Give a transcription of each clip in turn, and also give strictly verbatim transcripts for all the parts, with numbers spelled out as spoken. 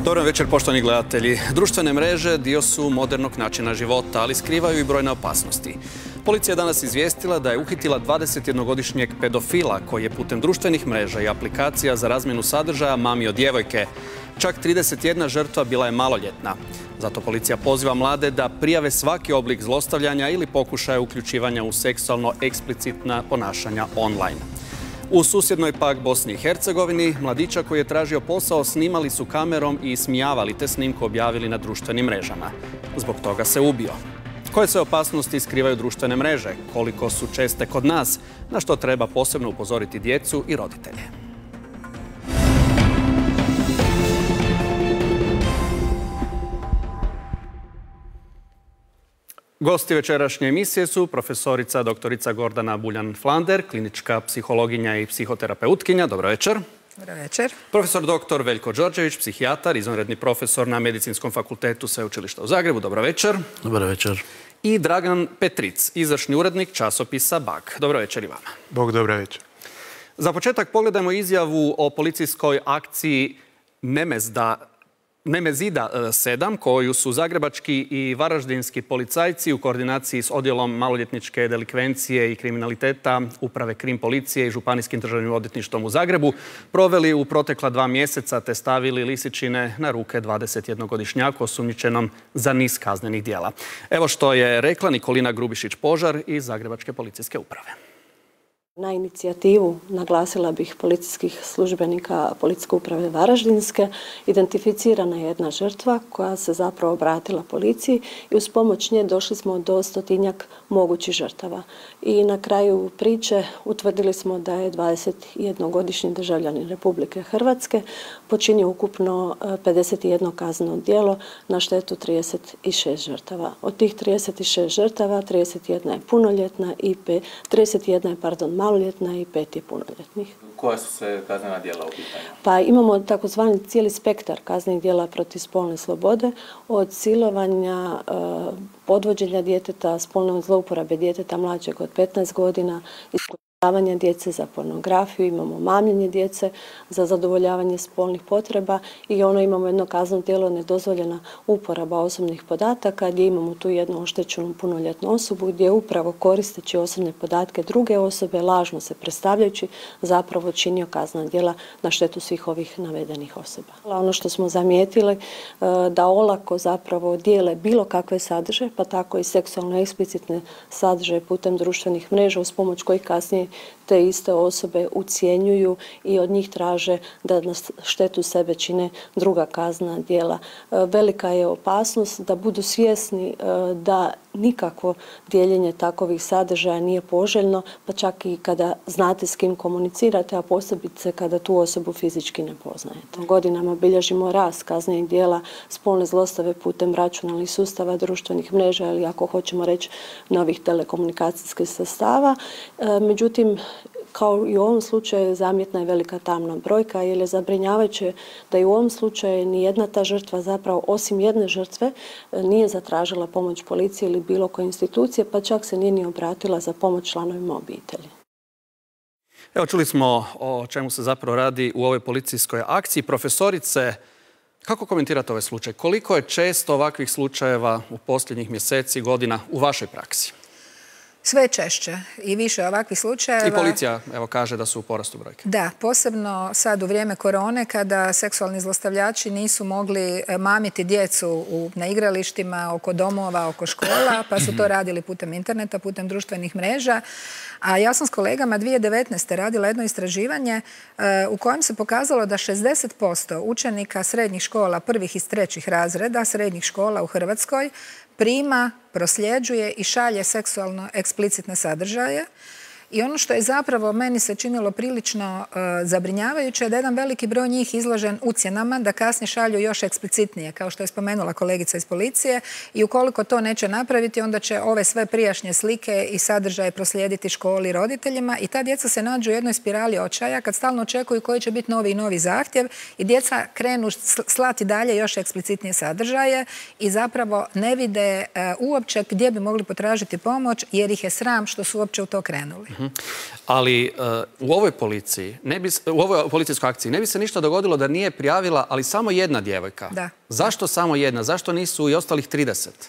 Dobar večer, poštovani gledatelji. Društvene mreže dio su modernog načina života, ali skrivaju i brojne opasnosti. Policija je danas izvijestila da je uhitila dvadesetjednogodišnjeg pedofila koji je putem društvenih mreža i aplikacija za razmjenu sadržaja mamio djevojke. Čak trideset jedna žrtva bila je maloljetna. Zato policija poziva mlade da prijave svaki oblik zlostavljanja ili pokušaja uključivanja u seksualno eksplicitna ponašanja online. U susjednoj pak Bosni i Hercegovini mladića koji je tražio posao snimali su kamerom i ismijavali te snimku objavili na društvenim mrežama. Zbog toga se ubio. Koje se opasnosti skrivaju društvene mreže? Koliko su česte kod nas? Na što treba posebno upozoriti djecu i roditelje? Gosti večerašnje emisije su profesorica doktorica Gordana Buljan-Flander, klinička psihologinja i psihoterapeutkinja. Dobro večer. Dobro večer. Profesor doktor Veljko Đorđević, psihijatar, izvanredni profesor na Medicinskom fakultetu Sveučilišta u Zagrebu. Dobro večer. Dobro večer. I Dragan Petric, izvršni urednik časopisa B A G. Dobro večer i vama. Bog, dobro večer. Za početak pogledajmo izjavu o policijskoj akciji Nemezda Nemezida sedam, koju su zagrebački i varaždinski policajci u koordinaciji s odjelom maloljetničke delikvencije i kriminaliteta Uprave Krim policije i Županijskim državnim odvjetništvom u Zagrebu proveli u protekla dva mjeseca te stavili lisičine na ruke dvadesetjednogodišnjaku osumnjičenom za niz kaznenih djela. Evo što je rekla Nikolina Grubišić-Požar iz Zagrebačke policijske uprave. Na inicijativu, naglasila bih, policijskih službenika Policijske uprave Varaždinske, identificirana je jedna žrtva koja se zapravo obratila policiji i uz pomoć nje došli smo do stotinjak mogućih žrtava. I na kraju priče utvrdili smo da je dvadesetjednogodišnji državljanin Republike Hrvatske počinio ukupno pedeset jedno kazneno djelo na štetu trideset šest žrtava. Od tih trideset šest žrtava, trideset jedna je punoljetna i trideset jedna je, pardon, maloljetna i pet je punoljetnih. Koja su sve kaznena djela u pitanju? Pa imamo takozvani cijeli spektar kaznenih djela protiv spolne slobode, od silovanja, podvođenja djeteta, spolne zlouporabe djeteta mlađeg od petnaest godina, iskorištavanja djece za pornografiju, imamo mamljenje djece za zadovoljavanje spolnih potreba i ono imamo jedno kazneno djelo nedozvoljena uporaba osobnih podataka gdje imamo tu jednu oštećenu punoljetnu osobu gdje upravo koristeći osobne podatke druge osobe, lažno se predstavljajući, zapravo činio kaznena djela na štetu svih ovih navedenih osoba. Ono što smo zamijetili da olako zapravo dijele bilo kakve sadržaje, pa tako i seksualno eksplicitne sadržaje putem društvenih mreža uz pomoć kojih kasnije te iste osobe ucjenjuju i od njih traže da na štetu sebe čine druga kaznena djela. Velika je opasnost da budu svjesni da nikakvo dijeljenje takovih sadržaja nije poželjno, pa čak i kada znate s kim komunicirate, a posebice kada tu osobu fizički ne poznajete. Godinama bilježimo rast kaznenih djela spolne zlostave putem računalnih sustava, društvenih mreža ili ako hoćemo reći novih telekomunikacijskih sredstava. Međutim, kao i u ovom slučaju zamjetna je velika tamna brojka jer je zabrinjavajuće da i u ovom slučaju nijedna ta žrtva zapravo osim jedne žrtve nije zatražila pomoć policije ili bilo koje institucije, pa čak se nije ni obratila za pomoć članovima obitelji. Evo, čuli smo o čemu se zapravo radi u ovoj policijskoj akciji. Profesorice, kako komentirate ovaj slučaj? Koliko je često ovakvih slučajeva u posljednjih mjeseci, godina u vašoj praksi? Sve češće i više ovakvih slučajeva. I policija, evo, kaže da su u porastu brojke. Da, posebno sad u vrijeme korone kada seksualni zlostavljači nisu mogli mamiti djecu na igralištima, oko domova, oko škola, pa su to radili putem interneta, putem društvenih mreža. A ja sam s kolegama dvije tisuće devetnaeste. radila jedno istraživanje u kojem se pokazalo da šezdeset posto učenika srednjih škola, prvih i trećih razreda srednjih škola u Hrvatskoj prima, prosljeđuje i šalje seksualno eksplicitne sadržaje. I ono što je zapravo meni se činilo prilično uh, zabrinjavajuće je da jedan veliki broj njih izložen ucjenama da kasnije šalju još eksplicitnije, kao što je spomenula kolegica iz policije, i ukoliko to neće napraviti, onda će ove sve prijašnje slike i sadržaje proslijediti školi i roditeljima i ta djeca se nađu u jednoj spirali očaja kad stalno očekuju koji će biti novi i novi zahtjev i djeca krenu slati dalje još eksplicitnije sadržaje i zapravo ne vide uh, uopće gdje bi mogli potražiti pomoć jer ih je sram što su uopće u to krenuli. Uh-huh. Ali uh, u ovoj policiji, ne bi, u ovoj policijskoj akciji ne bi se ništa dogodilo da nije prijavila, ali samo jedna djevojka. Da. Zašto samo jedna? Zašto nisu i ostalih trideset?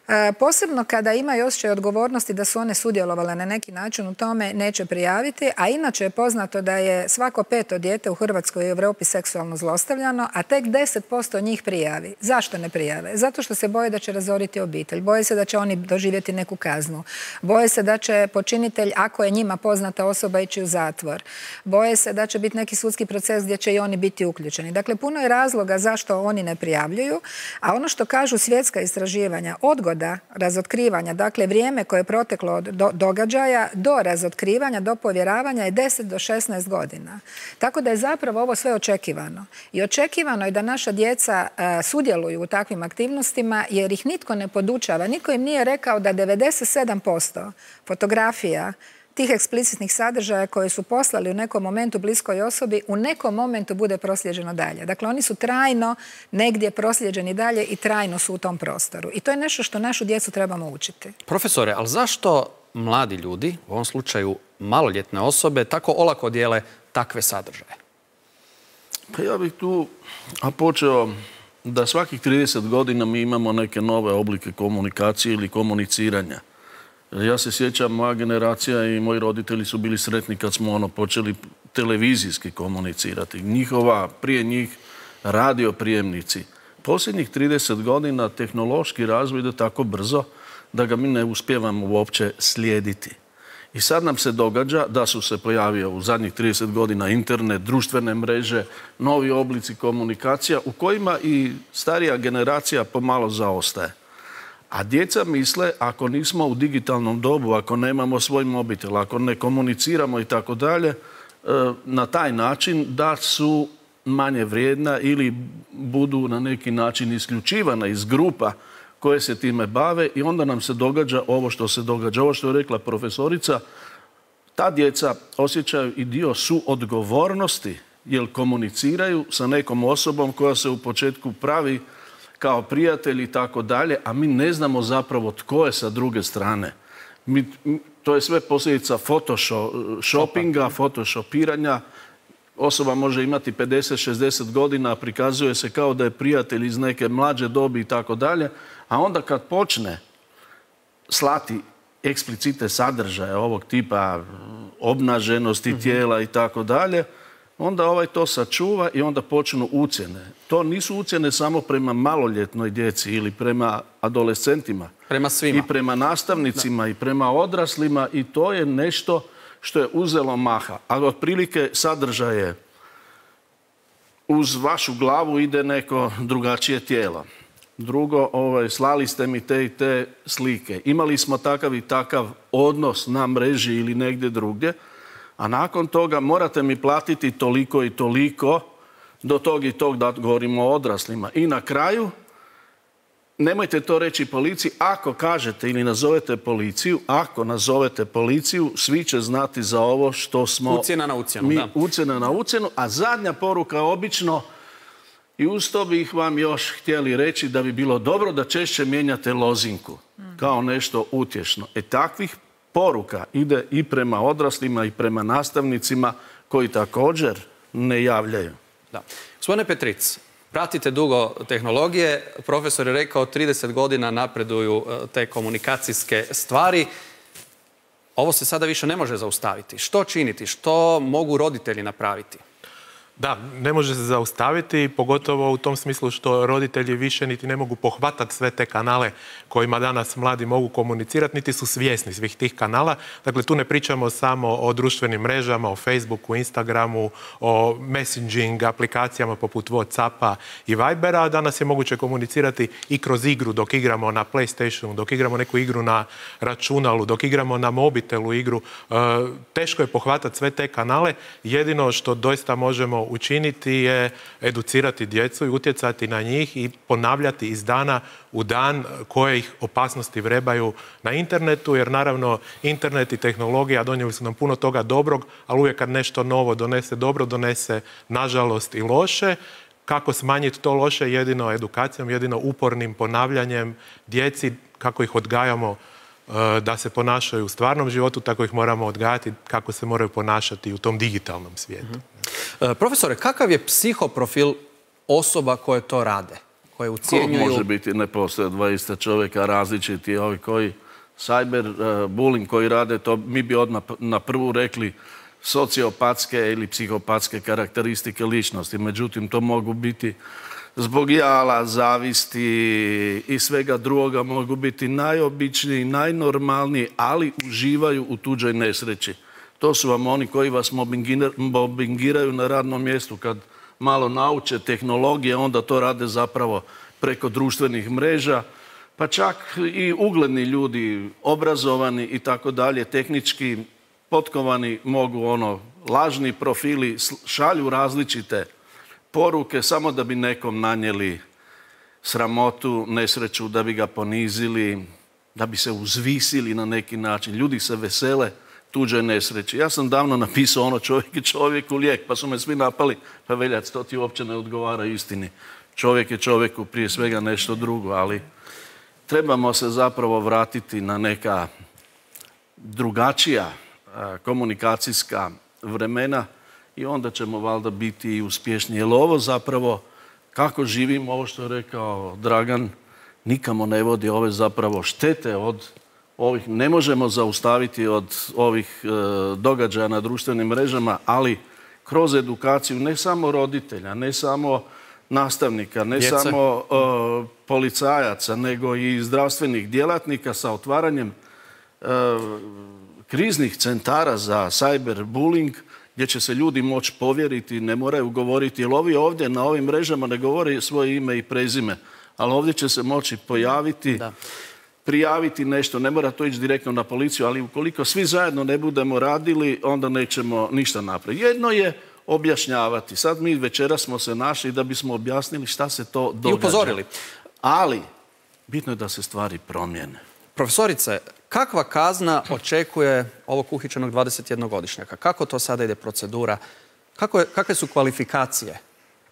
E, posebno kada imaju osjećaj odgovornosti da su one sudjelovale na neki način u tome, neće prijaviti, a inače je poznato da je svako peto dijete u Hrvatskoj i Europi seksualno zlostavljano, a tek deset posto njih prijavi. Zašto ne prijave? Zato što se boje da će razoriti obitelj, boje se da će oni doživjeti neku kaznu, boje se da će počinitelj, ako je njima poznata osoba, ići u zatvor, boje se da će biti neki sudski proces gdje će i oni biti uključeni. Dakle, puno je razloga zašto oni ne prijavljuju, a ono što kažu svjetska istraživanja, odgoda razotkrivanja, dakle vrijeme koje je proteklo od do, događaja do razotkrivanja, do povjeravanja je deset do šesnaest godina. Tako da je zapravo ovo sve očekivano. I očekivano je da naša djeca a, sudjeluju u takvim aktivnostima jer ih nitko ne podučava. Nitko im nije rekao da devedeset sedam posto fotografija tih eksplicitnih sadržaja koje su poslali u nekom momentu bliskoj osobi, u nekom momentu bude proslijeđeno dalje. Dakle, oni su trajno negdje proslijeđeni dalje i trajno su u tom prostoru. I to je nešto što našu djecu trebamo učiti. Profesore, ali zašto mladi ljudi, u ovom slučaju maloljetne osobe, tako olako dijele takve sadržaje? Pa ja bih tu a počeo da svakih trideset godina mi imamo neke nove oblike komunikacije ili komuniciranja. Ja se sjećam, moja generacija i moji roditelji su bili sretni kad smo ono počeli televizijski komunicirati. Njihova, prije njih, radio prijemnici. Posljednjih trideset godina tehnološki razvoj ide tako brzo da ga mi ne uspijevamo uopće slijediti. I sad nam se događa da su se pojavio u zadnjih trideset godina internet, društvene mreže, novi oblici komunikacija u kojima i starija generacija pomalo zaostaje. A djeca misle, ako nismo u digitalnom dobu, ako nemamo svoj mobitel, ako ne komuniciramo i tako dalje, na taj način da su manje vrijedna ili budu na neki način isključivana iz grupa koje se time bave i onda nam se događa ovo što se događa. Ovo što je rekla profesorica, ta djeca osjećaju i dio suodgovornosti jer komuniciraju sa nekom osobom koja se u početku pravi kao prijatelji i tako dalje, a mi ne znamo zapravo tko je sa druge strane. Mi, to je sve posljedica photoshoppinga, photoshopiranja. Osoba može imati pedeset šezdeset godina, a prikazuje se kao da je prijatelj iz neke mlađe dobi i tako dalje, a onda kad počne slati eksplicite sadržaje ovog tipa obnaženosti tijela i tako dalje, onda ovaj to sačuva i onda počnu ucjene. To nisu ucjene samo prema maloljetnoj djeci ili prema adolescentima. Prema svima. I prema nastavnicima da. I prema odraslima i to je nešto što je uzelo maha. Ali otprilike sadržaje uz vašu glavu ide neko drugačije tijelo. Drugo, ovaj, slali ste mi te i te slike. Imali smo takav i takav odnos na mreži ili negdje drugdje. A nakon toga morate mi platiti toliko i toliko do tog i tog, da govorimo o odraslima. I na kraju, nemojte to reći policiji, ako kažete ili nazovete policiju, ako nazovete policiju, svi će znati za ovo što smo... Ucjena na ucjenu, mi, da. Ucjena na ucjenu, a zadnja poruka obično, i uz to bih vam još htjeli reći da bi bilo dobro da češće mijenjate lozinku, kao nešto utješno. E takvih poruka ide i prema odraslima i prema nastavnicima koji također ne javljaju. Da. Gospodine Petric, pratite dugo tehnologije. Profesor je rekao trideset godina napreduju te komunikacijske stvari. Ovo se sada više ne može zaustaviti. Što činiti? Što mogu roditelji napraviti? Da, ne može se zaustaviti, pogotovo u tom smislu što roditelji više niti ne mogu pohvatati sve te kanale kojima danas mladi mogu komunicirati, niti su svjesni svih tih kanala. Dakle, tu ne pričamo samo o društvenim mrežama, o Facebooku, Instagramu, o messaging aplikacijama poput WhatsAppa i Vibera. Danas je moguće komunicirati i kroz igru, dok igramo na PlayStationu, dok igramo neku igru na računalu, dok igramo na mobitelu igru. E, teško je pohvatati sve te kanale. Jedino što doista možemo učiniti je educirati djecu i utjecati na njih i ponavljati iz dana u dan koje ih opasnosti vrebaju na internetu, jer naravno internet i tehnologija donijeli su nam puno toga dobrog, ali uvijek kad nešto novo donese dobro, donese nažalost i loše. Kako smanjiti to loše? Jedino edukacijom, jedino upornim ponavljanjem djeci, kako ih odgajamo da se ponašaju u stvarnom životu, tako ih moramo odgajati kako se moraju ponašati u tom digitalnom svijetu. Mm-hmm. Profesore, kakav je psihoprofil osoba koje to rade? Koje ucijenjuju... Ko može biti, ne postoje dva ista čovjeka, različiti ovi koji cyberbullying koji rade, to mi bi odmah na prvu rekli sociopatske ili psihopatske karakteristike ličnosti. Međutim, to mogu biti zbog jala, zavisti i svega drugoga, mogu biti najobičniji, najnormalniji, ali uživaju u tuđoj nesreći. To su vam oni koji vas mobbingiraju na radnom mjestu. Kad malo nauče tehnologije, onda to rade zapravo preko društvenih mreža. Pa čak i ugledni ljudi, obrazovani i tako dalje, tehnički potkovani, mogu ono, lažni profili šalju različite poruke samo da bi nekom nanijeli sramotu, nesreću, da bi ga ponizili, da bi se uzvisili na neki način. Ljudi se vesele tuđoj nesreći. Ja sam davno napisao ono čovjek je čovjeku lijek, pa su me svi napali, pa Veljac, to ti uopće ne odgovara istini. Čovjek je čovjeku prije svega nešto drugo, ali trebamo se zapravo vratiti na neka drugačija komunikacijska vremena i onda ćemo valjda biti i uspješni. Jer ovo zapravo, kako živimo, ovo što je rekao Dragan, nikamo ne vodi. Ove zapravo štete od ovih, ne možemo zaustaviti od ovih e, događaja na društvenim mrežama, ali kroz edukaciju ne samo roditelja, ne samo nastavnika, ne Djece. samo e, policajaca, nego i zdravstvenih djelatnika sa otvaranjem e, kriznih centara za cyberbullying, gdje će se ljudi moći povjeriti, ne moraju govoriti, jer ovi ovdje na ovim mrežama ne govore svoje ime i prezime, ali ovdje će se moći pojaviti, da. prijaviti nešto, ne mora to ići direktno na policiju, ali ukoliko svi zajedno ne budemo radili, onda nećemo ništa napraviti. Jedno je objašnjavati. Sad mi večera smo se našli da bismo objasnili šta se to događa. I upozorili. Ali bitno je da se stvari promijene. Profesorice, kakva kazna očekuje ovog uhićenog dvadesetjednogodišnjaka? Kako to sada ide procedura? Kako je, kakve su kvalifikacije?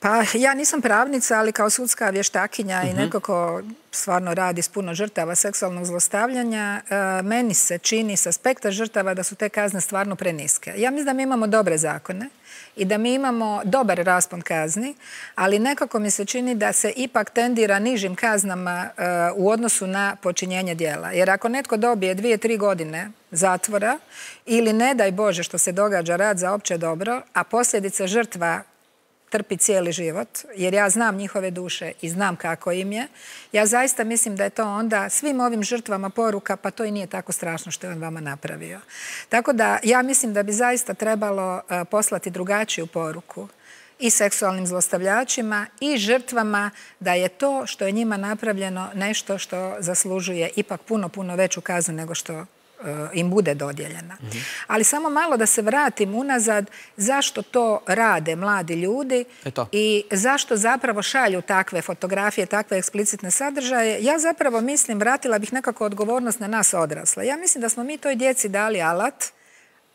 Pa ja nisam pravnica, ali kao sudska vještakinja uh-huh. i neko ko stvarno radi s puno žrtava seksualnog zlostavljanja, uh, meni se čini s aspekta žrtava da su te kazne stvarno preniske. Ja mislim da mi imamo dobre zakone i da mi imamo dobar raspon kazni, ali nekako mi se čini da se ipak tendira nižim kaznama uh, u odnosu na počinjenje djela. Jer ako netko dobije dvije, tri godine zatvora ili ne daj Bože što se događa rad za opće dobro, a posljedice žrtva trpi cijeli život, jer ja znam njihove duše i znam kako im je. Ja zaista mislim da je to onda svim ovim žrtvama poruka, pa to i nije tako strašno što je on vama napravio. Tako da ja mislim da bi zaista trebalo uh, poslati drugačiju poruku i seksualnim zlostavljačima i žrtvama da je to što je njima napravljeno nešto što zaslužuje ipak puno, puno veću kaznu nego što im bude dodijeljena. Mm-hmm. Ali samo malo da se vratim unazad zašto to rade mladi ljudi Eto. i zašto zapravo šalju takve fotografije, takve eksplicitne sadržaje. Ja zapravo mislim, vratila bih nekako odgovornost na nas odrasle. Ja mislim da smo mi toj djeci dali alat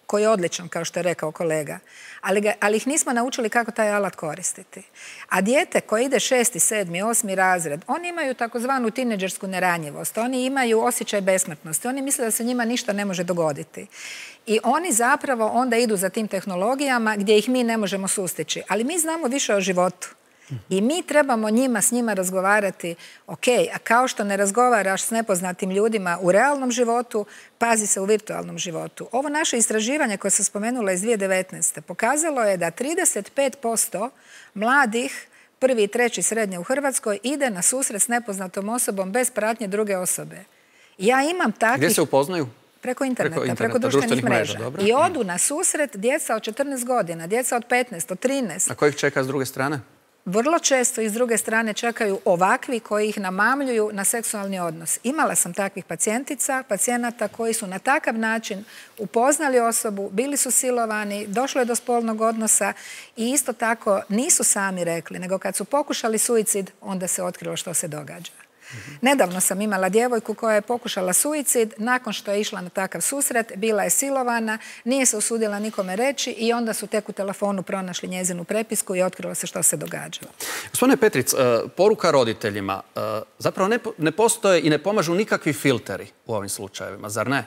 koji je odličan, kao što je rekao kolega, ali, ga, ali ih nismo naučili kako taj alat koristiti. A dijete koje ide šesti, sedmi, osmi razred, oni imaju takozvanu tineđersku neranjivost, oni imaju osjećaj besmrtnosti, oni misle da se njima ništa ne može dogoditi. I oni zapravo onda idu za tim tehnologijama gdje ih mi ne možemo sustići. Ali mi znamo više o životu. I mi trebamo njima s njima razgovarati, ok, a kao što ne razgovaraš s nepoznatim ljudima u realnom životu, pazi se u virtualnom životu. Ovo naše istraživanje koje sam spomenula iz dvije tisuće devetnaeste. pokazalo je da trideset pet posto mladih prvi i treći srednje u Hrvatskoj ide na susret s nepoznatom osobom bez pratnje druge osobe. Ja imam takvih... Gdje se upoznaju? Preko interneta, preko, interneta, preko društvenih mreža. mreža I odu na susret djeca od četrnaest godina, djeca od petnaest, od trinaest. A ko ih čeka s druge strane? Vrlo često iz druge strane čekaju ovakvi koji ih namamljuju na seksualni odnos. Imala sam takvih pacijentica, pacijenata koji su na takav način upoznali osobu, bili su silovani, došlo je do spolnog odnosa i isto tako nisu sami rekli, nego kad su pokušali suicid, onda se otkrilo što se događa. Nedavno sam imala djevojku koja je pokušala suicid, nakon što je išla na takav susret, bila je silovana, nije se usudila nikome reći i onda su tek u telefonu pronašli njezinu prepisku i otkrilo se što se događalo. Gospodine Petric, poruka roditeljima, zapravo ne postoje i ne pomažu nikakvi filteri u ovim slučajevima, zar ne?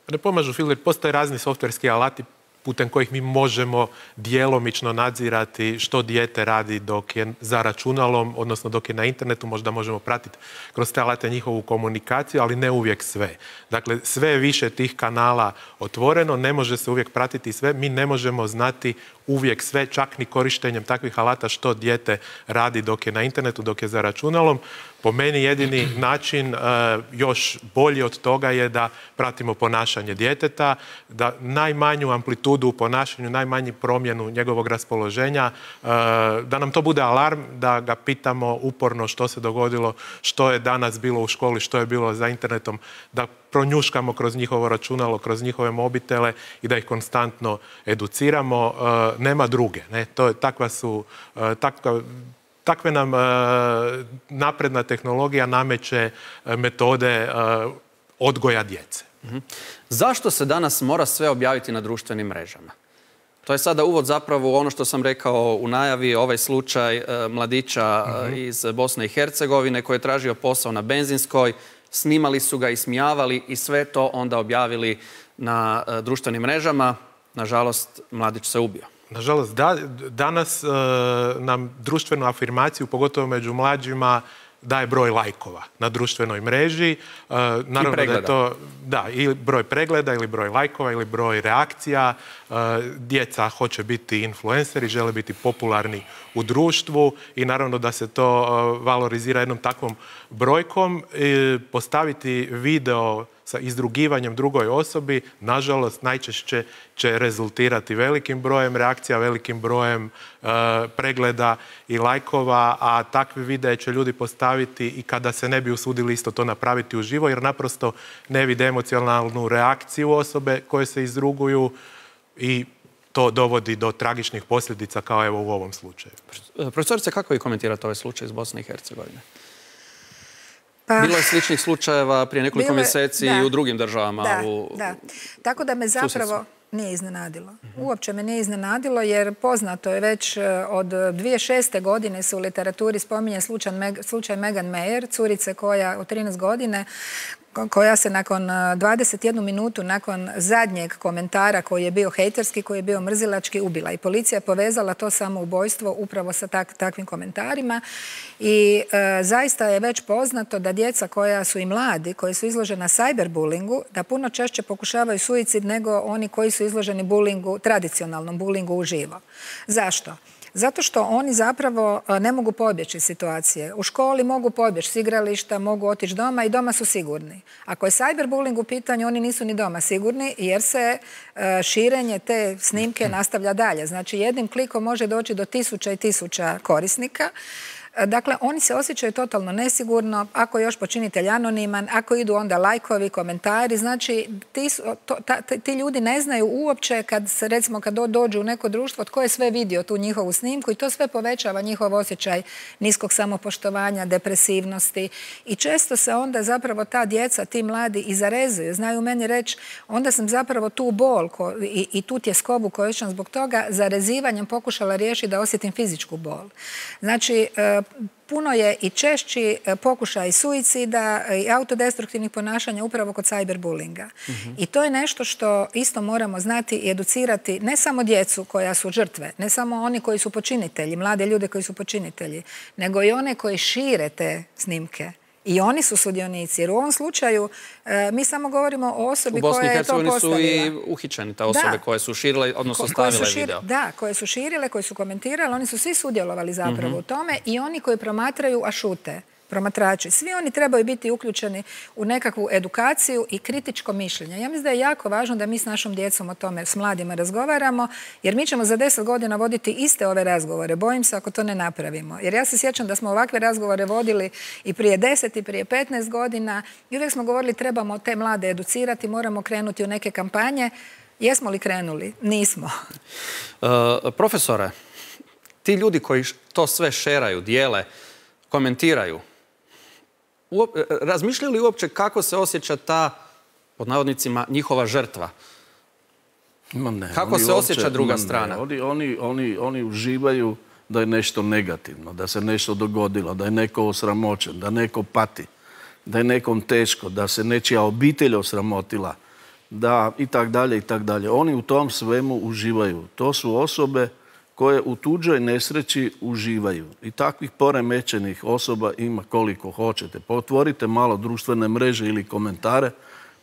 Ne pomažu filteri, postoje razni softverski alati putem kojih mi možemo djelomično nadzirati što dijete radi dok je za računalom, odnosno dok je na internetu, možda možemo pratiti kroz te alate njihovu komunikaciju, ali ne uvijek sve. Dakle, sve je više tih kanala otvoreno, ne može se uvijek pratiti sve, mi ne možemo znati uvijek sve, čak ni korištenjem takvih alata što dijete radi dok je na internetu, dok je za računalom. Po meni jedini način još bolji od toga je da pratimo ponašanje djeteta, da najmanju amplitudu u ponašanju, najmanju promjenu njegovog raspoloženja, da nam to bude alarm, da ga pitamo uporno što se dogodilo, što je danas bilo u školi, što je bilo za internetom, da pronjuškamo kroz njihovo računalo, kroz njihove mobitele i da ih konstantno educiramo. Nema druge. Ne? To je, takva su, takva, takve nam napredna tehnologija nameće metode odgoja djece. Zašto se danas mora sve objaviti na društvenim mrežama? To je sada uvod zapravo u ono što sam rekao u najavi, ovaj slučaj mladića iz Bosne i Hercegovine koji je tražio posao na benzinskoj, snimali su ga, ismijavali i sve to onda objavili na društvenim mrežama. Nažalost, mladić se ubio. Nažalost, da, danas e, nam društvenu afirmaciju, pogotovo među mlađima, daje broj lajkova na društvenoj mreži. E, naravno da je to, da, ili broj pregleda, ili broj lajkova, ili broj reakcija. E, djeca hoće biti influenceri, žele biti popularni u društvu i naravno da se to e, valorizira jednom takvom brojkom. E, postaviti video sa izdrugivanjem drugoj osobi, nažalost, najčešće će rezultirati velikim brojem reakcija, velikim brojem e, pregleda i lajkova, a takve videe će ljudi postaviti i kada se ne bi usudili isto to napraviti uživo, jer naprosto ne vide emocionalnu reakciju osobe koje se izruguju i to dovodi do tragičnih posljedica kao evo u ovom slučaju. Profesorice, kako vi komentirate ovaj slučaj iz Bosne i Hercegovine? Pa, bilo je sličnih slučajeva prije nekoliko mjeseci i u drugim državama. Da, u, da. Tako da me zapravo nije iznenadilo. Uopće me nije iznenadilo jer poznato je već od dvije tisuće šeste. godine se u literaturi spominje slučaj, slučaj Megan Mayer, curice koja od trinaest godine, koja se nakon dvadeset jednu minutu nakon zadnjeg komentara koji je bio hejterski, koji je bio mrzilački, ubila. I policija je povezala to samoubojstvo upravo sa tak, takvim komentarima. I e, zaista je već poznato da djeca koja su i mladi, koji su izložena cyberbullingu, da puno češće pokušavaju suicid nego oni koji su izloženi bullingu, tradicionalnom bullingu uživo. Zašto? Zato što oni zapravo ne mogu pobjeći iz situacije. U školi mogu pobjeći s igrališta, mogu otići doma i doma su sigurni. Ako je cyberbullying u pitanju, oni nisu ni doma sigurni jer se širenje te snimke nastavlja dalje. Znači jednim klikom može doći do tisuća i tisuća korisnika. Dakle, oni se osjećaju totalno nesigurno, ako je još počinitelj anoniman, ako idu onda lajkovi, komentari, znači ti, to, ta, ti ljudi ne znaju uopće kad se, recimo, kad dođu u neko društvo, tko je sve vidio tu njihovu snimku i to sve povećava njihov osjećaj niskog samopoštovanja, depresivnosti i često se onda zapravo ta djeca, ti mladi i zarezuju. Znaju meni reći, onda sam zapravo tu bol ko, i, i tu tjeskobu koju osjećam zbog toga zarezivanjem pokušala riješiti da osjetim fizičku bol. Znači, puno je i češći pokušaj suicida i autodestruktivnih ponašanja upravo kod cyberbullinga. Mm-hmm. I to je nešto što isto moramo znati i educirati ne samo djecu koja su žrtve, ne samo oni koji su počinitelji, mlade ljude koji su počinitelji, nego i one koji šire te snimke. I oni su sudionici, jer u ovom slučaju e, mi samo govorimo o osobi koja je to postavila. U Bosni i Hercegovini su i uhićeni te osobe da. koje su širile, odnosno Ko, stavile šir, video. Da, koje su širile, koje su komentirale, oni su svi sudjelovali zapravo mm-hmm. u tome i oni koji promatraju, a šute. Promatrači. Svi oni trebaju biti uključeni u nekakvu edukaciju i kritičko mišljenje. Ja mislim da je jako važno da mi s našom djecom o tome, s mladima razgovaramo, jer mi ćemo za deset godina voditi iste ove razgovore. Bojim se ako to ne napravimo. Jer ja se sjećam da smo ovakve razgovore vodili i prije deset i prije petnaest godina i uvijek smo govorili trebamo te mlade educirati, moramo krenuti u neke kampanje. Jesmo li krenuli? Nismo. Uh, profesore, ti ljudi koji to sve šeraju, dijele, komentiraju, razmišljaju li uopće kako se osjeća ta, pod navodnicima, njihova žrtva? Ne, kako se osjeća uopće, druga strana? Oni, oni, oni, oni uživaju da je nešto negativno, da se nešto dogodilo, da je neko osramoćen, da neko pati, da je nekom teško, da se nečija obitelj osramotila, da i tak dalje i tak dalje. Oni u tom svemu uživaju. To su osobe koje u tuđoj nesreći uživaju. I takvih poremećenih osoba ima koliko hoćete. Pa otvorite malo društvene mreže ili komentare,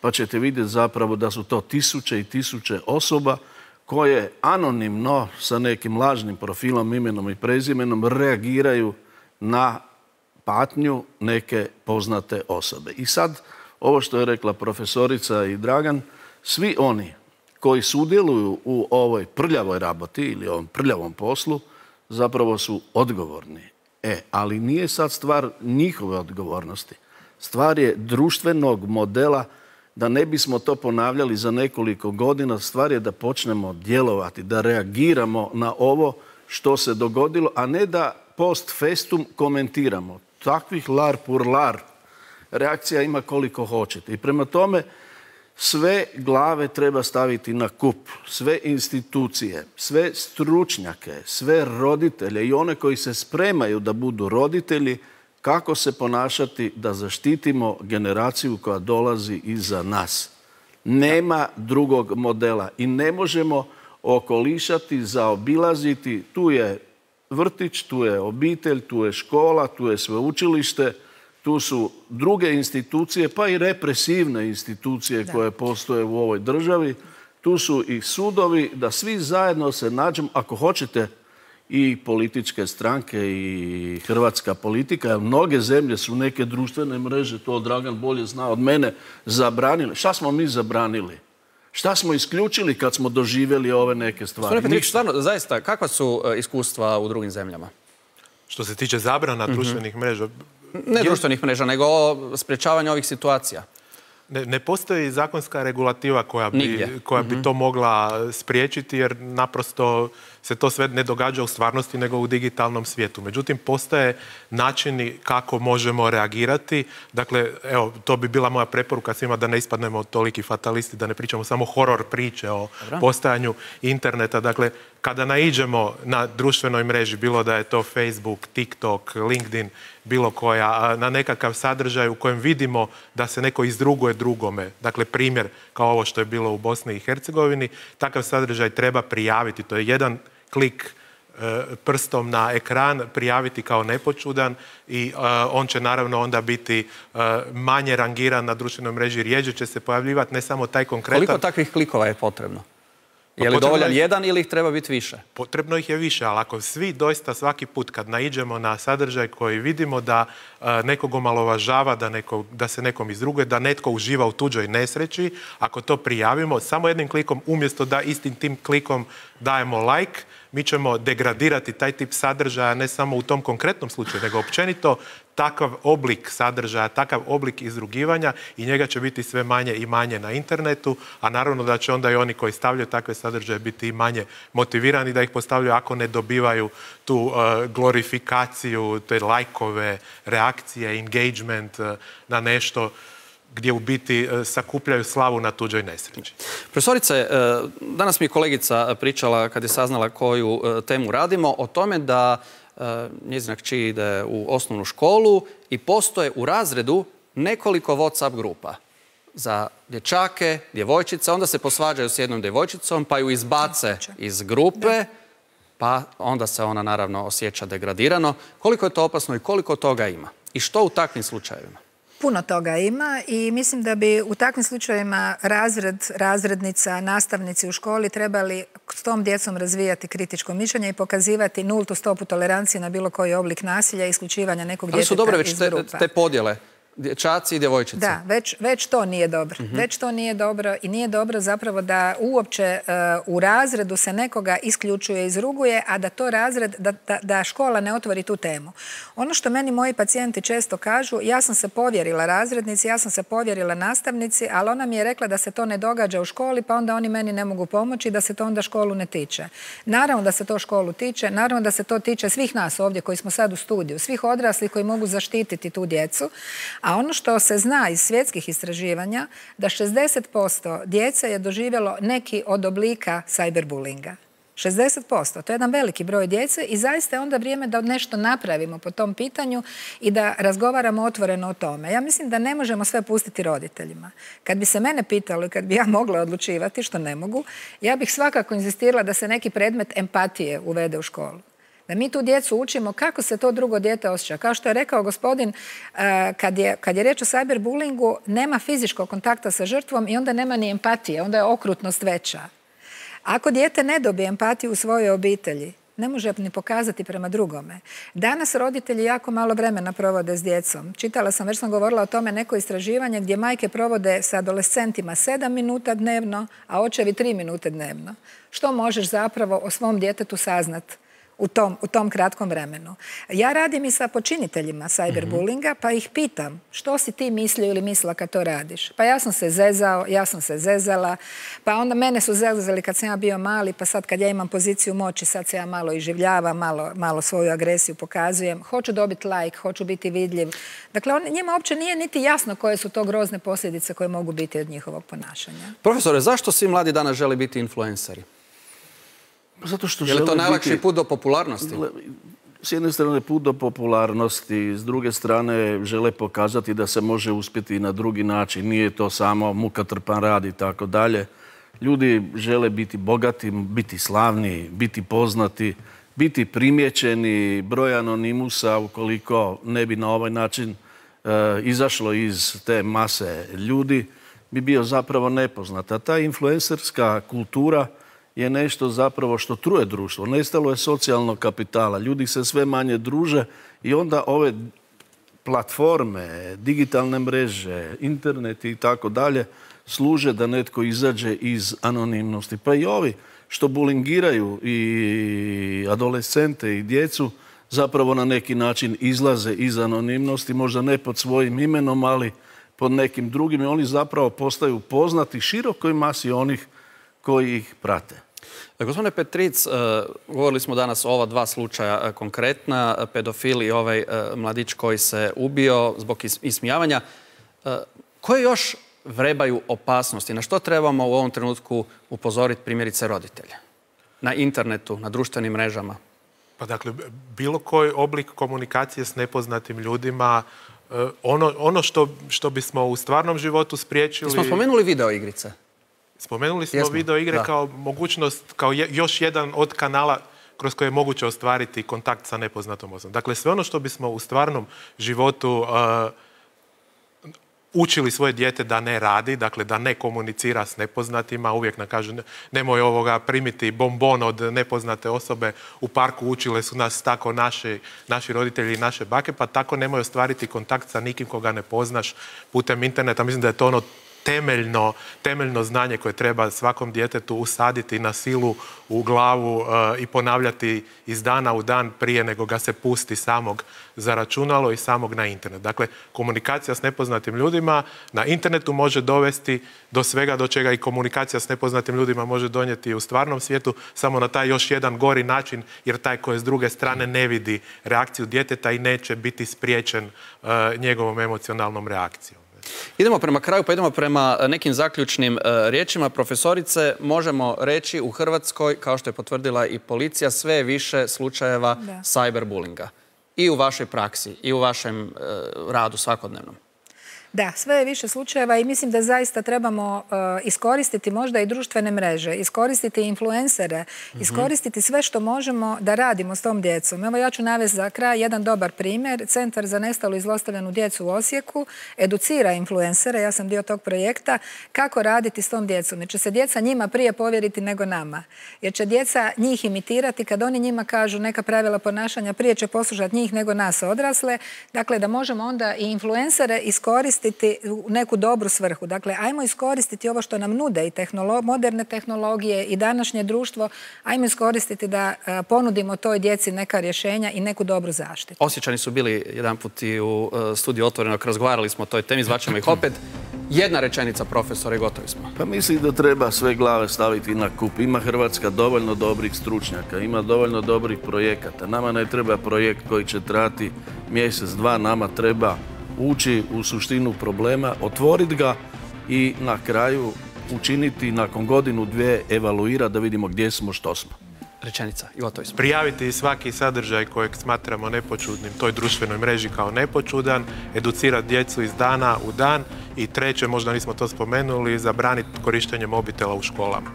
pa ćete vidjeti zapravo da su to tisuće i tisuće osoba koje anonimno sa nekim lažnim profilom, imenom i prezimenom reagiraju na patnju neke poznate osobe. I sad, ovo što je rekla profesorica i Dragan, svi oni koji sudjeluju u ovoj prljavoj raboti ili ovom prljavom poslu, zapravo su odgovorni. E, ali nije sad stvar njihove odgovornosti. Stvar je društvenog modela, da ne bismo to ponavljali za nekoliko godina. Stvar je da počnemo djelovati, da reagiramo na ovo što se dogodilo, a ne da post festum komentiramo. Takvih lar pur lar reakcija ima koliko hoćete. I prema tome sve glave treba staviti na kup, sve institucije, sve stručnjake, sve roditelje i one koji se spremaju da budu roditelji, kako se ponašati da zaštitimo generaciju koja dolazi iza nas. Nema drugog modela i ne možemo okolišati, zaobilaziti. Tu je vrtić, tu je obitelj, tu je škola, tu je sveučilište, tu su druge institucije, pa i represivne institucije koje postoje u ovoj državi. Tu su i sudovi, da svi zajedno se nađemo, ako hoćete, i političke stranke i hrvatska politika. Mnoge zemlje su neke društvene mreže, to Dragan bolje zna od mene, zabranili. Šta smo mi zabranili? Šta smo isključili kad smo doživjeli ove neke stvari? Gospodine Petrić, stvarno, zaista, kakva su iskustva u drugim zemljama? Što se tiče zabrana društvenih mreža? Ne društvenih mreža, nego sprječavanja ovih situacija. Ne, ne postoji zakonska regulativa koja bi, koja bi to mogla spriječiti, jer naprosto se to sve ne događa u stvarnosti nego u digitalnom svijetu. Međutim, postoje načini kako možemo reagirati. Dakle, evo, to bi bila moja preporuka svima, da ne ispadnemo toliki fatalisti, da ne pričamo samo horor priče o postojanju interneta. Dakle, kada naiđemo na društvenoj mreži, bilo da je to Facebook, TikTok, LinkedIn, bilo koja, na nekakav sadržaj u kojem vidimo da se neko izruguje drugome, dakle primjer kao ovo što je bilo u Bosni i Hercegovini, takav sadržaj treba prijaviti. To je jedan klik e, prstom na ekran, prijaviti kao nepočudan i e, on će naravno onda biti e, manje rangiran na društvenoj mreži, rijeđe će se pojavljivati, ne samo taj konkretan... Koliko takvih klikova je potrebno? Je li dovoljan jedan ili ih treba biti više? Potrebno ih je više, ali ako svi doista svaki put kad naiđemo na sadržaj koji vidimo da nekog omalovažava, da, neko, da se nekom izruguje, da netko uživa u tuđoj nesreći, ako to prijavimo samo jednim klikom, umjesto da istim tim klikom dajemo like, mi ćemo degradirati taj tip sadržaja ne samo u tom konkretnom slučaju, nego općenito takav oblik sadržaja, takav oblik izrugivanja i njega će biti sve manje i manje na internetu, a naravno da će onda i oni koji stavljaju takve sadržaje biti i manje motivirani da ih postavljaju ako ne dobivaju tu uh, glorifikaciju, te lajkove, reakcije, engagement uh, na nešto gdje u biti sakupljaju slavu na tuđoj nesreći. Profesorice, danas mi je kolegica pričala, kad je saznala koju temu radimo, o tome da njezina kći ide u osnovnu školu i postoje u razredu nekoliko WhatsApp grupa za dječake, djevojčice, onda se posvađaju s jednom djevojčicom, pa ju izbace iz grupe, pa onda se ona naravno osjeća degradirano. Koliko je to opasno i koliko toga ima? I što u takvim slučajevima? Puno toga ima i mislim da bi u takvim slučajevima razred, razrednica, nastavnici u školi trebali s tom djecom razvijati kritičko mišljenje i pokazivati nultu stopu tolerancije na bilo koji oblik nasilja i isključivanja nekog djeteta iz grupa. Ali su dobre već te, te podjele, dječaci i djevojčice. Da, već, već to nije dobro. Mm-hmm. Već to nije dobro i nije dobro zapravo da uopće uh, u razredu se nekoga isključuje, izruguje, a da to razred, da, da, da škola ne otvori tu temu. Ono što meni moji pacijenti često kažu, ja sam se povjerila razrednici, ja sam se povjerila nastavnici, ali ona mi je rekla da se to ne događa u školi, pa onda oni meni ne mogu pomoći, da se to onda školu ne tiče. Naravno da se to školu tiče, naravno da se to tiče svih nas ovdje koji smo sad u studiju, svih odraslih koji mogu zaštititi tu djecu, A ono što se zna iz svjetskih istraživanja, da šezdeset posto djece je doživjelo neki od oblika cyberbullinga. šezdeset posto. To je jedan veliki broj djece i zaista je onda vrijeme da nešto napravimo po tom pitanju i da razgovaramo otvoreno o tome. Ja mislim da ne možemo sve pustiti roditeljima. Kad bi se mene pitalo i kad bi ja mogla odlučivati, što ne mogu, ja bih svakako inzistirala da se neki predmet empatije uvede u školu. Da mi tu djecu učimo kako se to drugo dijete osjeća. Kao što je rekao gospodin, kad je, kad je riječ o cyberbullingu, nema fizičkog kontakta sa žrtvom i onda nema ni empatije, onda je okrutnost veća. Ako dijete ne dobije empatiju u svojoj obitelji, ne može ni pokazati prema drugome. Danas roditelji jako malo vremena provode s djecom. Čitala sam, već sam govorila o tome, neko istraživanje gdje majke provode sa adolescentima sedam minuta dnevno, a očevi tri minute dnevno. Što možeš zapravo o svom djetetu saznat u tom, u tom kratkom vremenu? Ja radim i sa počiniteljima cyberbullinga, pa ih pitam što si ti mislio ili mislila kad to radiš? Pa ja sam se zezao, ja sam se zezala, pa onda mene su zezali kad sam ja bio mali, pa sad kad ja imam poziciju moći, sad se ja malo iživljavam, malo, malo svoju agresiju pokazujem, hoću dobiti like, hoću biti vidljiv. Dakle, on, njima uopće nije niti jasno koje su to grozne posljedice koje mogu biti od njihovog ponašanja. Profesore, zašto svi mladi danas žele biti influenceri? Zato što je li to najlakši biti, put do popularnosti? S jedne strane put do popularnosti, s druge strane žele pokazati da se može uspjeti i na drugi način. Nije to samo mukatrpan rad i tako dalje. Ljudi žele biti bogati, biti slavni, biti poznati, biti primjećeni. Broj anonimusa, ukoliko ne bi na ovaj način e, izašlo iz te mase ljudi, bi bio zapravo nepoznat. A ta influencerska kultura je nešto zapravo što truje društvo. Nestalo je socijalnog kapitala. Ljudi se sve manje druže i onda ove platforme, digitalne mreže, internet i tako dalje služe da netko izađe iz anonimnosti. Pa i ovi što bulingiraju i adolescente i djecu zapravo na neki način izlaze iz anonimnosti, možda ne pod svojim imenom, ali pod nekim drugim i oni zapravo postaju poznati širokoj masi onih koji ih prate. Gospodine Petric, govorili smo danas o ova dva slučaja konkretna, pedofil i ovaj mladić koji se ubio zbog ismijavanja. Koje još vrebaju opasnosti? Na što trebamo u ovom trenutku upozoriti primjerice roditelje? Na internetu, na društvenim mrežama? Pa dakle, bilo koji oblik komunikacije s nepoznatim ljudima, ono, ono što, što bismo u stvarnom životu spriječili... Smo spomenuli video igrice? Spomenuli smo Jesmo, video igre da. kao mogućnost, kao je, još jedan od kanala kroz koje je moguće ostvariti kontakt sa nepoznatom osobom. Dakle, sve ono što bismo u stvarnom životu uh, učili svoje dijete da ne radi, dakle da ne komunicira s nepoznatima, uvijek nam kažu nemoj ovoga primiti bombon od nepoznate osobe, u parku učile su nas tako naši, naši roditelji i naše bake, pa tako nemoj ostvariti kontakt sa nikim koga ne poznaš putem interneta. Mislim da je to ono temeljno, temeljno znanje koje treba svakom djetetu usaditi na silu u glavu uh, i ponavljati iz dana u dan prije nego ga se pusti samog za računalo i samog na internet. Dakle, komunikacija s nepoznatim ljudima na internetu može dovesti do svega do čega i komunikacija s nepoznatim ljudima može donijeti u stvarnom svijetu, samo na taj još jedan gori način, jer taj koji s druge strane ne vidi reakciju djeteta i neće biti spriječen uh, njegovom emocionalnom reakcijom. Idemo prema kraju, pa idemo prema nekim zaključnim uh, riječima. Profesorice, možemo reći u Hrvatskoj, kao što je potvrdila i policija, sve je više slučajeva da. cyberbullinga. I u vašoj praksi, i u vašem uh, radu svakodnevnom. Da, sve je više slučajeva i mislim da zaista trebamo uh, iskoristiti možda i društvene mreže, iskoristiti influencere, mm-hmm. iskoristiti sve što možemo da radimo s tom djecom. Evo ja ću navesti za kraj jedan dobar primjer. Centar za nestalu i zlostavljanu djecu u Osijeku educira influencere, ja sam dio tog projekta, kako raditi s tom djecom. Jer će se djeca njima prije povjeriti nego nama. Jer će djeca njih imitirati kad oni njima kažu neka pravila ponašanja, prije će poslušati njih nego nas odrasle. Dakle, da možemo onda i influencere iskoristiti u neku dobru svrhu. Dakle, ajmo iskoristiti ovo što nam nude i tehnolo- moderne tehnologije i današnje društvo, ajmo iskoristiti da a, ponudimo toj djeci neka rješenja i neku dobru zaštitu. Osjećani su bili jedan put i u uh, studiju Otvorenog, razgovarali smo o toj temi, zvaćemo ih opet. Jedna rečenica, profesore, i gotovi smo. Pa mislim da treba sve glave staviti na kup. Ima Hrvatska dovoljno dobrih stručnjaka, ima dovoljno dobrih projekata. Nama ne treba projekt koji će trajati mjesec, dva, nama treba ući u suštinu problema, otvoriti ga i na kraju učiniti nakon godinu, dvije, evaluirati da vidimo gdje smo, što smo. Rečenica, Ivo Tojs. Prijaviti svaki sadržaj kojeg smatramo nepočudnim toj društvenoj mreži kao nepočudan, educirati djecu iz dana u dan i treće, možda nismo to spomenuli, zabraniti korištenje mobitela u školama.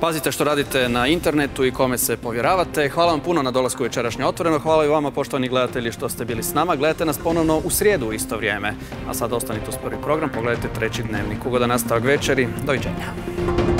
Pazite što radite na internetu i kome se povjeravate. Hvala vam puno na dolasku večerašnje Otvoreno. Hvala i vama, poštovani gledatelji, što ste bili s nama. Gledajte nas ponovno u srijedu u isto vrijeme. A sad ostanite uz prvi program, pogledajte treći dnevnik. Ugodan nastavak večeri. Doviđenja.